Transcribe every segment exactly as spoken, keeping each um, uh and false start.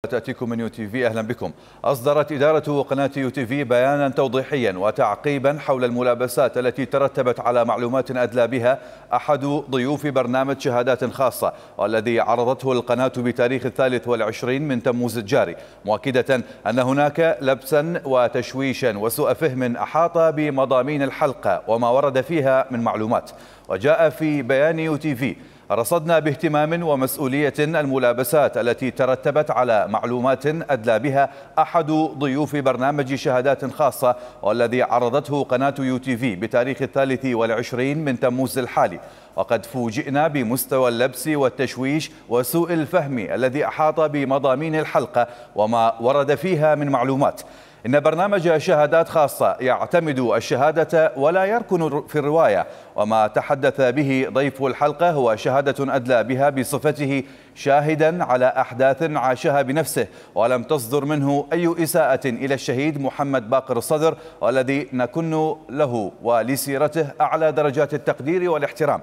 تأتيكم من يو تي في. أهلا بكم. أصدرت إدارة قناة يو تي في بيانا توضيحيا وتعقيبا حول الملابسات التي ترتبت على معلومات أدلى بها أحد ضيوف برنامج شهادات خاصة، والذي عرضته القناة بتاريخ الثالث والعشرين من تموز الجاري، مؤكدة أن هناك لبسا وتشويشا وسوء فهم أحاط بمضامين الحلقة وما ورد فيها من معلومات. وجاء في بيان يو تي في: رصدنا باهتمام ومسؤولية الملابسات التي ترتبت على معلومات أدلى بها أحد ضيوف برنامج شهادات خاصة، والذي عرضته قناة يو تي في بتاريخ الثالث والعشرين من تموز الحالي. وقد فوجئنا بمستوى اللبس والتشويش وسوء الفهم الذي أحاط بمضامين الحلقة وما ورد فيها من معلومات. إن برنامج شهادات خاصة يعتمد الشهادة ولا يركن في الرواية، وما تحدث به ضيف الحلقة هو شهادة أدلى بها بصفته شاهدا على أحداث عاشها بنفسه، ولم تصدر منه أي إساءة إلى الشهيد محمد باقر الصدر، والذي نكن له ولسيرته أعلى درجات التقدير والاحترام.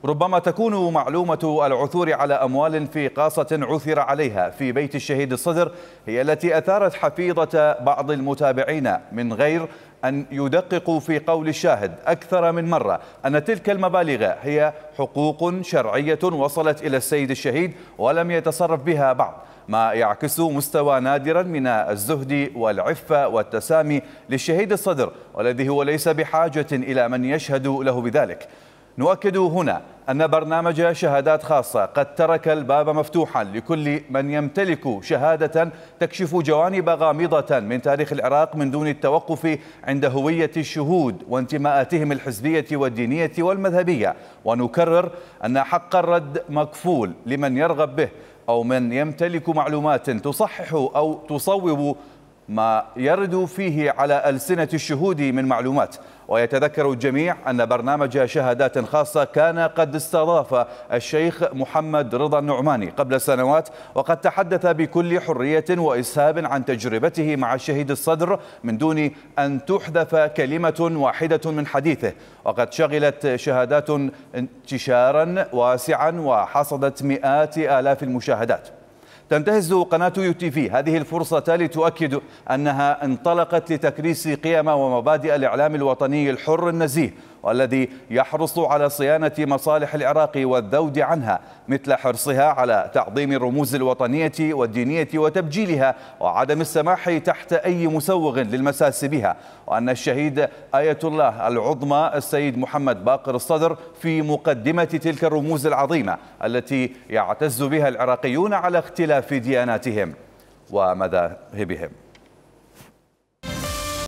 ربما تكون معلومة العثور على أموال في قاصة عثر عليها في بيت الشهيد الصدر هي التي أثارت حفيظة بعض المتابعين، من غير أن يدققوا في قول الشاهد أكثر من مرة أن تلك المبالغ هي حقوق شرعية وصلت إلى السيد الشهيد ولم يتصرف بها بعض، ما يعكس مستوى نادرا من الزهد والعفة والتسامي للشهيد الصدر، والذي هو ليس بحاجة إلى من يشهد له بذلك. نؤكد هنا أن برنامج شهادات خاصة قد ترك الباب مفتوحا لكل من يمتلك شهادة تكشف جوانب غامضة من تاريخ العراق من دون التوقف عند هوية الشهود وانتماءاتهم الحزبية والدينية والمذهبية. ونكرر أن حق الرد مكفول لمن يرغب به أو من يمتلك معلومات تصحح أو تصوب ما يرد فيه على ألسنة الشهود من معلومات. ويتذكر الجميع أن برنامج شهادات خاصة كان قد استضاف الشيخ محمد رضا النعماني قبل سنوات، وقد تحدث بكل حرية وإسهاب عن تجربته مع الشهيد الصدر من دون أن تحذف كلمة واحدة من حديثه. وقد شغلت شهادات انتشارا واسعا وحصدت مئات آلاف المشاهدات. تنتهز قناة يو تي في هذه الفرصة لتؤكد أنها انطلقت لتكريس قيم ومبادئ الإعلام الوطني الحر النزيه، والذي يحرص على صيانة مصالح العراق والذود عنها، مثل حرصها على تعظيم الرموز الوطنية والدينية وتبجيلها، وعدم السماح تحت أي مسوغ للمساس بها. وأن الشهيد آية الله العظمى السيد محمد باقر الصدر في مقدمة تلك الرموز العظيمة التي يعتز بها العراقيون على اختلاف دياناتهم ومذاهبهم.